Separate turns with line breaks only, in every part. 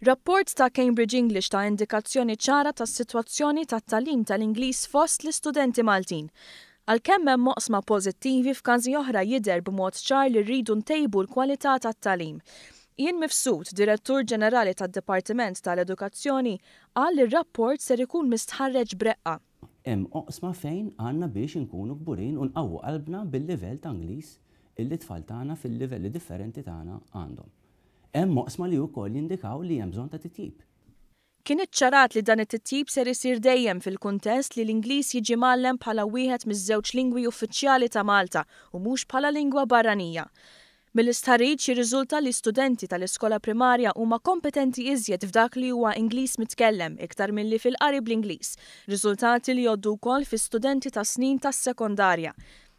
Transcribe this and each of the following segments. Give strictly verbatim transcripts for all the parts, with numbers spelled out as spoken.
Rapport ta' Cambridge English ta indikazzjoni ċara tas-sitwazzjoni tat-tagħlim tal-Ingliż fost l-istudenti Maltin. Għalkemm hemm oqsma pożittivi, f'każi oħra jidher b'mod ċar li rridu ntejbu l-kwalità tat-tagħlim. Ian Mifsud, Direttur Ġenerali tad-Dipartiment tal-Edukazzjoni, qal li r-rapport ser ikun mistħarreġ b'reqqa.
Hemm oqsma fejn għandna biex inkunu kburin u nqawwu qalbna bil-livell ta' Ingliż illi tfal tagħna fil-livelli differenti tagħna għandhom. Hemm oqsma li wkoll jindikaw li hemm bżonn ta' titjib.
Kien iċċarat li dan it-titjib ser isir dejjem fil-kuntest li l-Ingliż jiġi mgħallem bħala wieħed miż-żewġ lingwi uffiċjali ta' Malta u mhux bħala lingwa barranija. Mill-istħarriġ jirriżulta li studenti tal-iskola primarja huma kompetenti iżjed f'dak li huwa Ingliż mitkellem iktar milli fil-qari bl-Ingliż, riżultati li jgħoddu wkoll fi studenti ta' snin tas-sekondarja.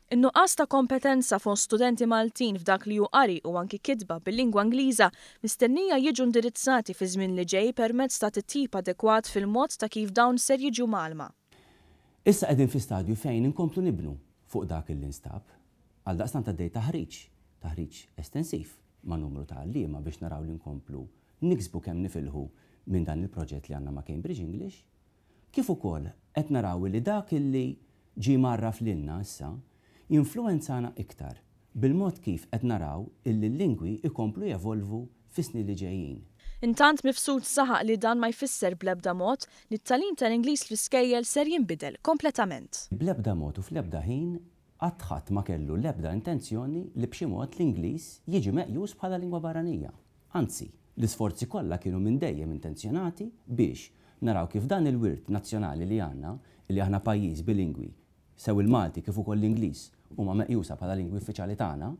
In-nuqqas ta' kompetenza fost studenti Maltin f'dak li hu qari u anki kitba bil-lingwa Ingliża mistennija jiġu indirizzati fi żmien li ġej permezz ta' titjib adekwat fil-mod ta' kif dawn ser jiġu mgħallma.
Issa qegħdin fi stadju fejn inkomplu nibnu fuq dak li nstab. Għaldaqstant għaddej taħriġ, taħriġ estensiv ma' numru ta' għalliema biex naraw li nkomplu niksbu kemm nifilħu minn dan il-proġett li għandna ma' Cambridge English, kif ukoll qed naraw li dak li ġie mgħarraf lilna issa jinfluwenzana iktar bil-mod kif qed naraw illi l-lingwi ikomplu jevolvu fis-snin li ġejjin.
Intant, Mifsud saħaq li dan ma jfisser bl-ebda mod li t-tagħlim tal-Ingliż fl-iskejjel ser jinbidel kompletament.
Bl-ebda mod u fl-ebda ħin qatt ħadd ma kellu l-ebda intenzjoni li b'xi mod l-Ingliż jiġi meqjus bħala lingwa barranija. Anzi, l-isforzi kollha kienu minn dejjem intenzjonati biex naraw kif dan il-wirt nazzjonali li għandna, li aħna pajjiż bilingwi, sew il-Malti kif ukoll l-Ingliż huma meqjusa bħala lingwi uffiċjali tagħna,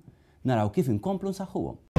naraw kif inkomplu nsaħħuhom.